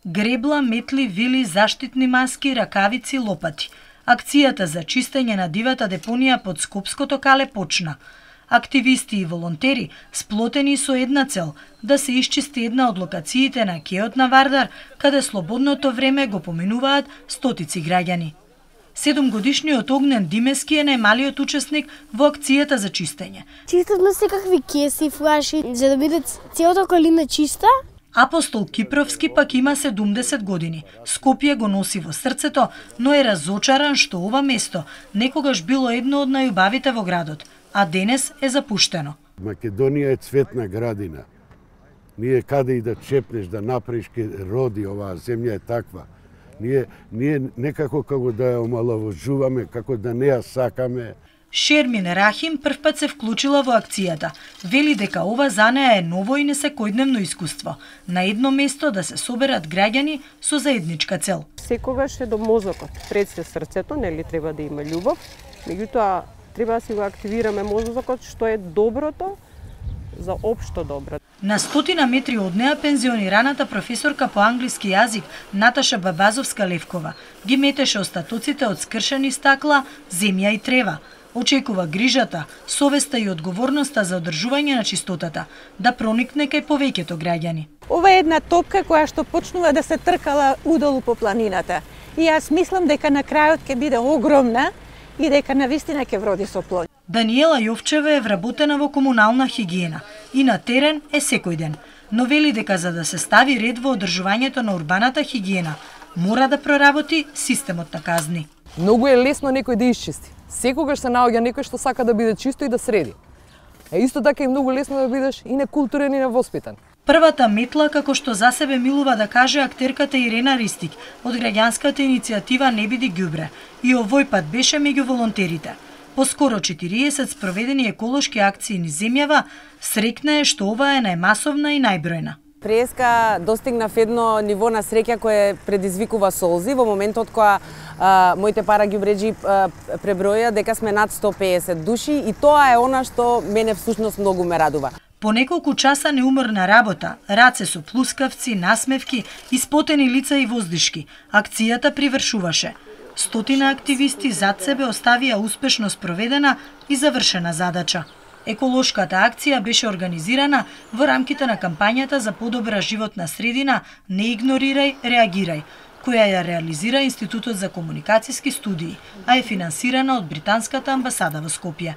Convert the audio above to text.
Гребла, метли, вили, заштитни маски, ракавици, лопати. Акцијата за чистење на дивата депонија под Скопското кале почна. Активисти и волонтери сплотени со една цел – да се исчисти една од локациите на кеот на Вардар, каде слободното време го поминуваат стотици граѓани. 7-годишниот Огнен Димески е најмалиот учесник во акцијата за чистење. Чистевме секакви кеси, флаши, за да биде целата околина чиста. Апостол Кипровски пак има 70 години. Скопје го носи во срцето, но е разочаран што ова место некогаш било едно од најубавите во градот, а денес е запуштено. Македонија е цветна градина. Ние каде и да чепнеш, да направиш, ке роди оваа земја е таква. Ние некако како да ја омаловажуваме, како да не ја сакаме. Шермин Рахим првпат се вклучила во акцијата. Вели дека ова за неа е ново и несекојдневно искуство. На едно место да се соберат граѓани со заедничка цел. Секогаш е до мозокот, пред се срцето, нели треба да има љубов, меѓутоа треба да си го активираме мозокот што е доброто за општо добро. На 100 метри од неа пензионираната професорка по англиски јазик Наташа Бабазовска-Левкова ги метеше остатоците од скршени стакла, земја и трева. Очекува грижата, совеста и одговорноста за одржување на чистотата да проникне кај повеќето граѓани. Ова е една топка која што почнува да се тркала удолу по планината. И јас мислам дека на крајот ќе биде огромна и дека навистина ќе вроди со плод. Даниела Јовчева е вработена во комунална хигиена и на терен е секој ден, но вели дека за да се стави ред во одржувањето на урбаната хигиена, мора да проработи системот на казни. Многу е лесно некој да исчисти. Секогаш се наоѓа некој што сака да биде чисто и да среди. Исто така е многу лесно да бидеш и некултурен и невоспитан. Првата метла, како што за себе милува да каже актерката Ирена Ристик, од граѓанската иницијатива Не биди ѓубре, и овој пат беше меѓу волонтерите. По скоро 40 спроведени еколошки акции низ земјава, среќна е што ова е најмасовна и најбројна. Преска достигнав едно ниво на среќа кое предизвикува солзи во моментот кога моите параѓубреџи преброја дека сме над 150 души и тоа е она што мене всушност многу ме радува. По неколку часа неуморна работа, раце со плускавци, насмевки, испотени лица и воздишки, акцијата привршуваше. 100 активисти зад себе оставија успешно спроведена и завршена задача. Еколошката акција беше организирана во рамките на кампањата за подобра животна средина Не игнорирај, реагирај, која ја реализира Институтот за комуникацијски студии, а е финансирана од британската амбасада во Скопје.